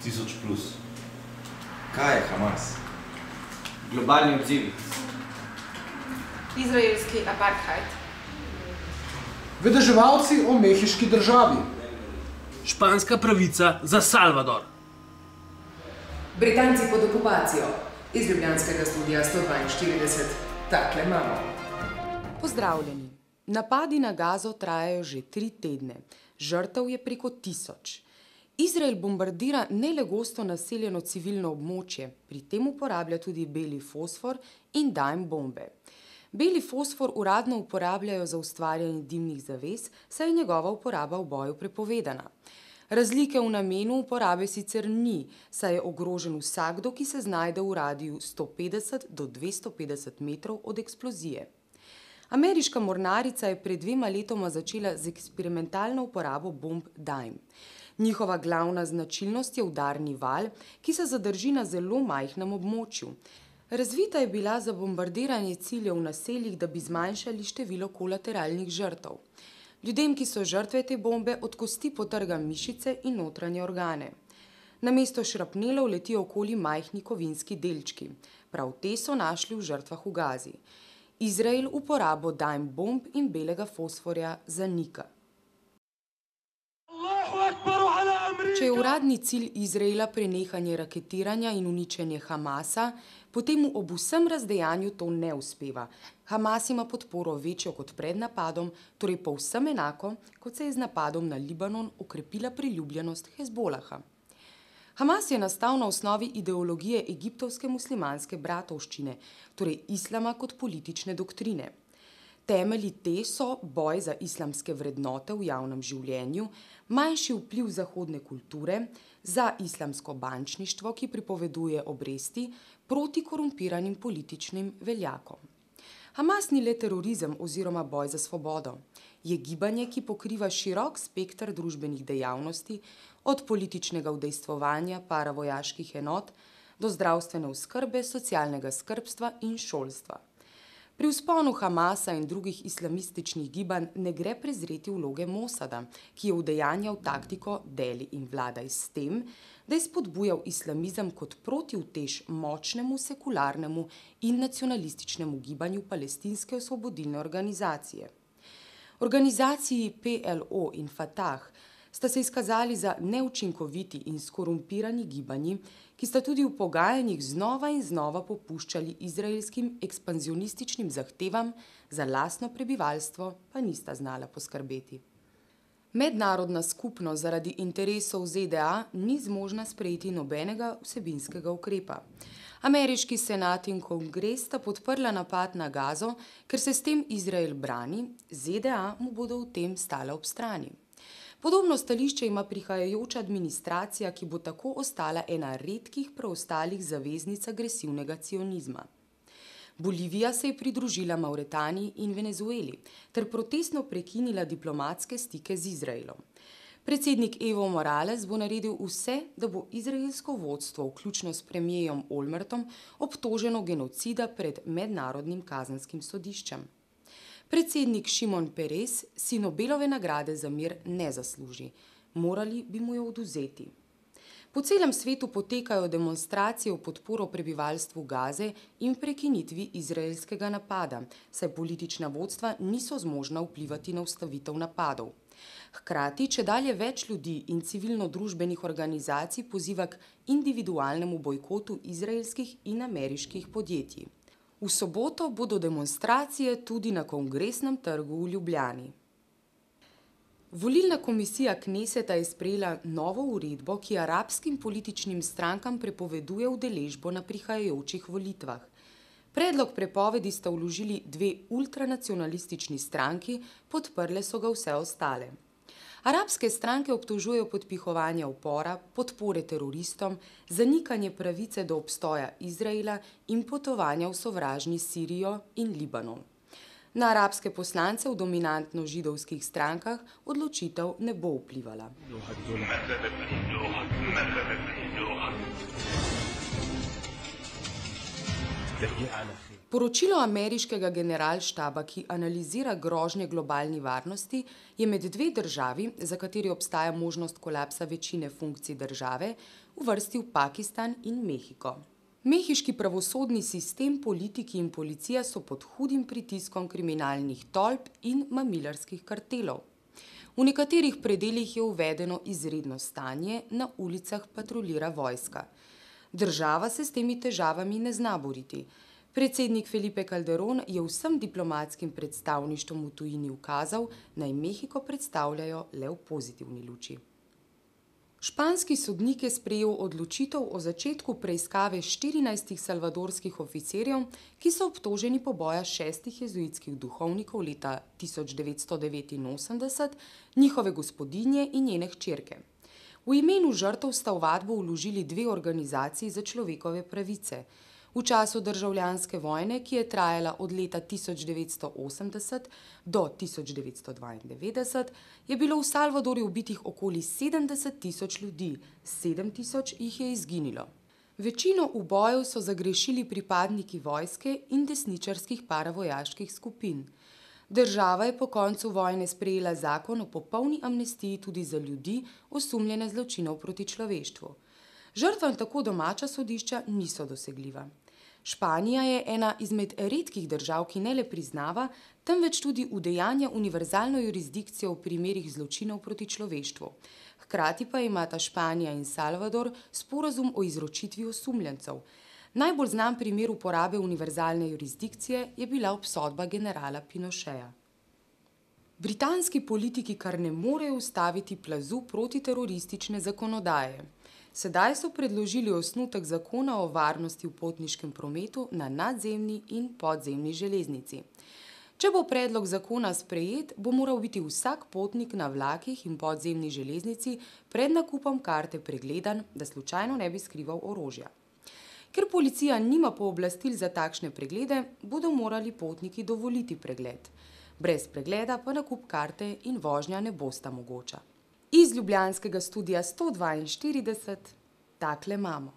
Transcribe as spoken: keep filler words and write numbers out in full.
tisoč plus. Kaj je Hamas? Globalni odzivi. Izraelski apartheid. Vedeževalci o mehiški državi. Španska pravica za Salvador. Britanci pod okupacijo. Iz ljubljanskega studija sto dvainštirideset. Takle imamo. Pozdravljeni. Napadi na Gazo trajajo že tri tedne. Žrtev je preko tisoč. Izrael bombardira ne le gosto naseljeno civilno območje, pri tem uporablja tudi beli fosfor in dime bombe. Beli fosfor uradno uporabljajo za ustvarjanje dimnih zaves, saj je njegova uporaba v boju prepovedana. Razlike v namenu uporabe sicer ni, saj je ogrožen vsakdo, ki se znajde v radiju sto petdeset do dvesto petdeset metrov od eksplozije. Ameriška mornarica je pred dvema letoma začela z eksperimentalno uporabo bomb dime. Njihova glavna značilnost je udarni val, ki se zadrži na zelo majhnem območju. Razvita je bila za bombardiranje ciljev v naseljih, da bi zmanjšali število kolateralnih žrtev. Ljudem, ki so žrtve te bombe, od kosti potrga mišice in notranje organe. Namesto šrapnelov letijo okoli majhni kovinski delčki. Prav te so našli v žrtvah v Gazi. Izrael uporabo dime bomb in belega fosforja zanika. Če je uradni cilj Izraela prenehanje raketiranja in uničenje Hamasa, potem mu ob vsem razdejanju to ne uspeva. Hamas ima podporo večjo kot pred napadom, torej povsem enako, kot se je z napadom na Libanon okrepila priljubljenost Hezbolaha. Hamas je nastal na osnovi ideologije egiptovske muslimanske bratovščine, torej islama kot politične doktrine. Temelji te so boj za islamske vrednote v javnem življenju, manjši vpliv zahodne kulture, za islamsko bančništvo, ki pripoveduje obresti, proti korumpiranim političnim veljakom. Hamas ni le terorizem oziroma boj za svobodo. Je gibanje, ki pokriva širok spekter družbenih dejavnosti, od političnega udejstvovanja paravojaških enot do zdravstvene oskrbe, socialnega skrbstva in šolstva. Pri vzponu Hamasa in drugih islamističnih gibanj ne gre prezreti vloge Mosada, ki je udejanjal taktiko deli in vladaj s tem, da je spodbujal islamizem kot protiutež močnemu sekularnemu in nacionalističnemu gibanju palestinske osvobodilne organizacije. Organizaciji P L O in Fatah sta se izkazali za neučinkoviti in skorumpirani gibanji, ki sta tudi v pogajanjih znova in znova popuščali izraelskim ekspanzionističnim zahtevam, za lastno prebivalstvo pa nista znala poskrbeti. Mednarodna skupnost zaradi interesov Z D A ni zmožna sprejeti nobenega vsebinskega ukrepa. Ameriški senat in kongres sta podprla napad na Gazo, ker se s tem Izrael brani, Z D A mu bodo v tem stale ob strani. Podobno stališče ima prihajajoča administracija, ki bo tako ostala ena redkih preostalih zaveznic agresivnega cionizma. Bolivija se je pridružila Mauretaniji in Venezueli ter protestno prekinila diplomatske stike z Izraelom. Predsednik Evo Morales bo naredil vse, da bo izraelsko vodstvo, vključno s premijerom Olmertom, obtoženo genocida pred mednarodnim kazenskim sodiščem. Predsednik Šimon Peres si Nobelove nagrade za mir ne zasluži. Morali bi mu jo odvzeti. Po celem svetu potekajo demonstracije v podporo prebivalstvu Gaze in prekinitvi izraelskega napada, saj politična vodstva niso zmožna vplivati na ustavitev napadov. Hkrati, čedalje več ljudi in civilno-družbenih organizacij poziva k individualnemu bojkotu izraelskih in ameriških podjetij. V soboto bodo demonstracije tudi na Kongresnem trgu v Ljubljani. Volilna komisija Kneseta je sprejela novo uredbo, ki arabskim političnim strankam prepoveduje udeležbo na prihajajočih volitvah. Predlog prepovedi sta vložili dve ultranacionalistični stranki, podprle so ga vse ostale. Arabske stranke obtožujejo podpihovanja upora, podpore teroristom, zanikanje pravice do obstoja Izraela in potovanja v sovražni Sirijo in Libanon. Na arabske poslance v dominantno židovskih strankah odločitev ne bo vplivala. Poročilo ameriškega generalštaba, ki analizira grožnje globalni varnosti, je med dve državi, za kateri obstaja možnost kolapsa večine funkcij države, uvrstil Pakistan in Mehiko. Mehiški pravosodni sistem, politiki in policija so pod hudim pritiskom kriminalnih tolp in mamilarskih kartelov. V nekaterih predelih je uvedeno izredno stanje, na ulicah patruljira vojska. Država se s temi težavami ne zna boriti. Predsednik Felipe Calderón je vsem diplomatskim predstavništvom v tujini ukazal, naj Mehiko predstavljajo le v pozitivni luči. Španski sodnik je sprejel odločitev o začetku preiskave štirinajstih salvadorskih oficirjev, ki so obtoženi poboja šestih jezuitskih duhovnikov leta tisoč devetsto devetinosemdeset, njihove gospodinje in njene hčerke. V imenu žrtev sta ovadbo vložili dve organizaciji za človekove pravice. V času državljanske vojne, ki je trajala od leta tisoč devetsto osemdeset do tisoč devetsto dvaindevetdeset, je bilo v Salvadorju ubitih okoli sedemdeset tisoč ljudi, sedem tisoč jih je izginilo. Večino ubojev so zagrešili pripadniki vojske in desničarskih paravojaških skupin. Država je po koncu vojne sprejela zakon o popolni amnestiji tudi za ljudi, osumljene zločinov proti človeštvu. Žrtvam tako domača sodišča niso dosegljiva. Španija je ena izmed redkih držav, ki ne le priznava, temveč tudi udejanja univerzalno jurisdikcijo v primerih zločinov proti človeštvu. Hkrati pa imata Španija in Salvador sporazum o izročitvi osumljencev. Najbolj znan primer uporabe univerzalne jurisdikcije je bila obsodba generala Pinocheja. Britanski politiki kar ne morejo ustaviti plazu protiteroristične zakonodaje. Sedaj so predložili osnutek zakona o varnosti v potniškem prometu na nadzemni in podzemni železnici. Če bo predlog zakona sprejet, bo moral biti vsak potnik na vlakih in podzemni železnici pred nakupom karte pregledan, da slučajno ne bi skrival orožja. Ker policija nima pooblastil za takšne preglede, bodo morali potniki dovoliti pregled. Brez pregleda pa nakup karte in vožnja ne bosta mogoča. Iz ljubljanskega studia sto dvainštirideset takle imamo.